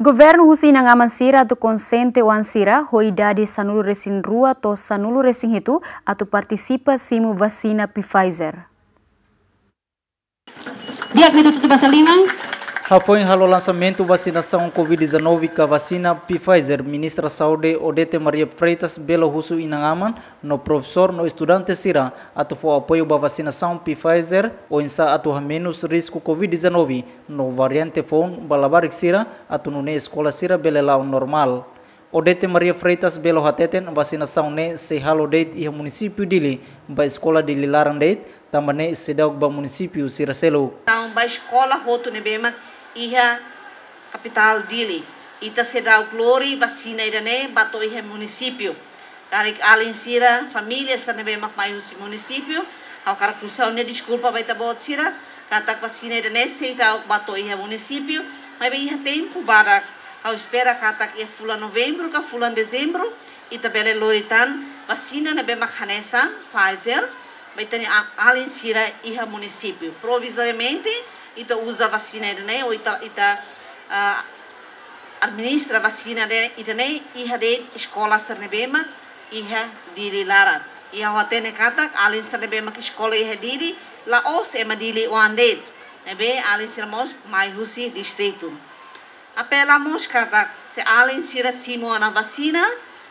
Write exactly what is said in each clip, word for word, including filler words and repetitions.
Governu husu inan-aman sira atu konsiente oan sira ho idade sanulu-resin-rua to'o sanulu-resin-hitu atu partisipa simu vasina Pfizer. Di'ak, ita tutu basa liman. Hafoin halo lansamentu vasinasaun covid dezanove ka vasina Pfizer, Ministra Saúde Odete Maria Freitas Belo husu inan-aman no profesór no estudante sira atu fó apoiu ba vasinasaun Pfizer, oinsá atu hamenus risku covid dezanove no variante foun ba labarik sira atu nune'e eskola sira bele la'o normál. Odete Maria Freitas Belo hateten vasinasaun ne'e sei halo de'it iha munisípiu Dili ba eskola Dili laran de'it, tanba ne'e seidauk ba munisípiu sira seluk. Entaun ba eskola hotu ne'ebé mak iha kapitál Dili, ita seidauk lori vasina ida-ne'e ba to'o iha munisípiu. Karik alin sira, família sira ne'ebé mak mai husi munisípiu, ha'u hakarak husu ha'u-nia deskulpa ba ita-boot sira, katak vasina ida-ne'e seidauk ba to'o iha munisípiu, maibé iha tempu badak, ha'u espera katak iha fulan Novembru ka fulan Dezembru, ita bele lori tan vasina ne'ebé mak hanesan Pfizer ba ita-nia a-, alin sira iha munisípiu. Provizoriamente, ita uza vasina ida-ne'e, ou ita, ita, ah, administra vasina de, ida-ne'e iha de'it eskola sira ne'ebé mak iha Dili laran. I ha'u hatene katak alin sira ne'ebé mak eskola iha Dili, la'ós ema Dili oan de'it. Ne'ebé alin sira mós mai husi distritu. Apela mós katak se alin sira simu ona vasina,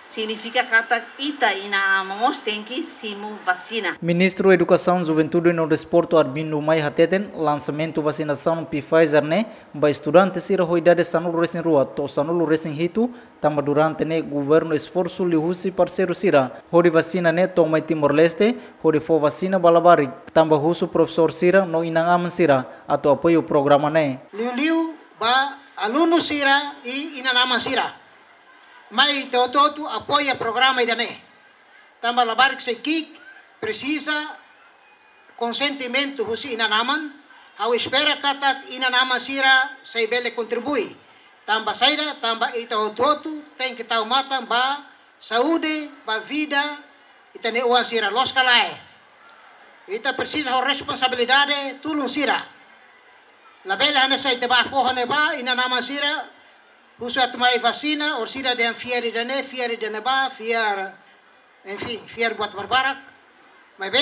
signifika katak ita inan-aman mós tenke simu vasina. Ministru Edukasaun, Juventude no Desportu Armindo Mai hateten, lansamentu vasinasaun Pfizer ne'e ba estudante sira ho idade sanulu-resin-rua to'o sanulu-resin-hitu, tanba durante ne'e governu esforsu liuhusi parseiru sira hodi vasina ne'e to'o mai Timor-Leste, hodi fó vasina ba labarik, tanba husu profesór sira no inan-aman sira atu apoiu programa ne'e. Liuliu ba alunu sira i inan-aman sira. Mai ita hotu-hotu apoia programa ida-ne'e. Tanba labarik sei ki'ik, presiza konsentimentu husi inan-aman, ha'u espera katak inan-aman sira sei bele kontribui. Tanba saida, tanba ita hotu-hotu tenke tau matan ba saúde, ba vida ita-nia oan sira, loos ka lae. Ita presiza ho responsabilidade tulun sira. Labele hanesan ita ba foho ne'ebá, inan-aman sira husu atu mai vasina, orsida dehan fiar ida-ne'e, fiar ida-ne'ebá, fiar, enfin, fiar buat barbarak. Maibé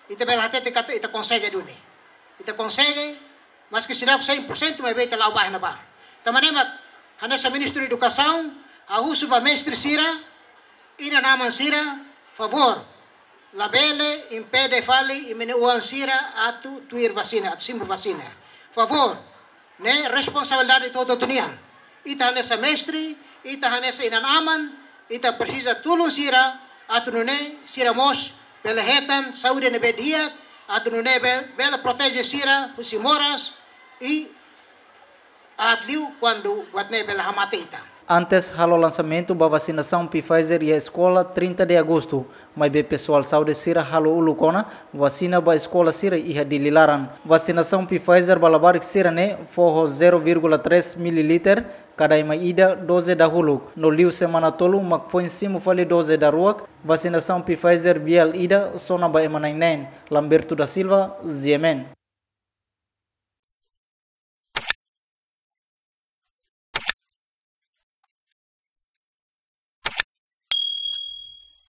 ita bele hatete katak ita konsege duni. Ita konsege, maski seidauk sein pursentu, maibé ita la'o ba iha ne'ebá. Tanba ne'e mak hanesan Ministru Edukasaun, ha'u husu ba mestre sira, inan-aman sira, favór, labele impede fali imi-nia oan sira atu tuir vasina, atu simu vasina. Favór, ne'e responsabilidade ita hotu-hotu nian. Ita hanesan mestre, ita hanesan inan-aman, ita presiza tulun sira, atu nune'e sira mós bele hetan saúde ne'ebé di'ak, atu nune'e be-, bele proteje sira husi moras i aat liu kuandu buat ne'e bele hamate ita. Antes halo lansamentu ba vasinasaun Pfizer iha eskola trinta de agosto, maibé pesoál saúde sira halo uluk ona vasina ba eskola sira iha Dili laran. Vasinasaun Pfizer ba labarik sira ne'e fó ho zero vírgula três mililiter kada ema ida doze dahuluk, no liu semana tolu mak foin simu fali doze daruak, vasinasaun Pfizer viál ida sona ba ema na'in-neen. Lamberto da Silva, G M N.